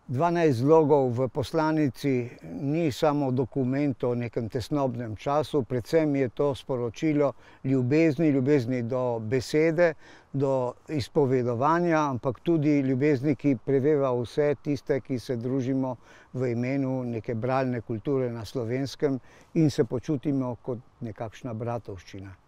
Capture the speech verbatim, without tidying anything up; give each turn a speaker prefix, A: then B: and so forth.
A: dvanajst zlogov v poslanici ni samo dokument o nekem tesnobnem času, predvsem je to sporočilo ljubezni, ljubezni do besede, do izpovedovanja, ampak tudi ljubezni, ki preveva vse tiste, ki se družimo v imenu neke bralne kulture na Slovenskem in se počutimo kot nekakšna bratovščina.